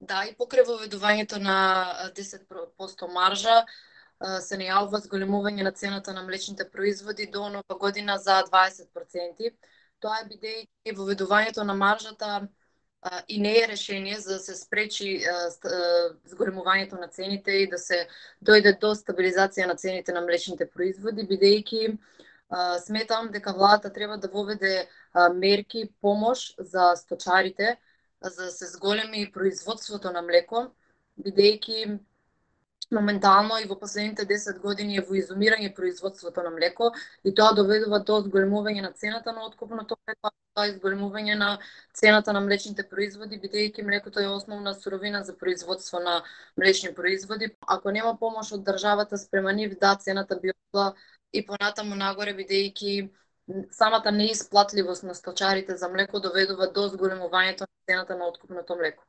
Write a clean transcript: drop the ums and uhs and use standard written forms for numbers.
Да, и покрај воведувањето на 10% маржа се најавува зголемување на цената на млечните производи до нова година за 20%. Тоа е бидејќи воведувањето на маржата и не е решение за да се спречи зголемувањето на цените и да се дојде до стабилизација на цените на млечните производи, бидејќи сметам дека владата треба да воведе мерки, помош за сточарите, за да се зголеми производството на млеко, бидејќи моментално и во последните 10 години е во изумирање производството на млеко и тоа доведува до зголемување на цената на откупното млеко, тоа е зголемување на цената на млечните производи, бидејќи млекото е основна суровина за производство на млечни производи. Ако нема помош од државата спрема нив, да, цената би отла и понатаму нагоре, бидејќи самата неисплатливост на сточарите за млеко доведува до зголемувањето на цената на откупното млеко.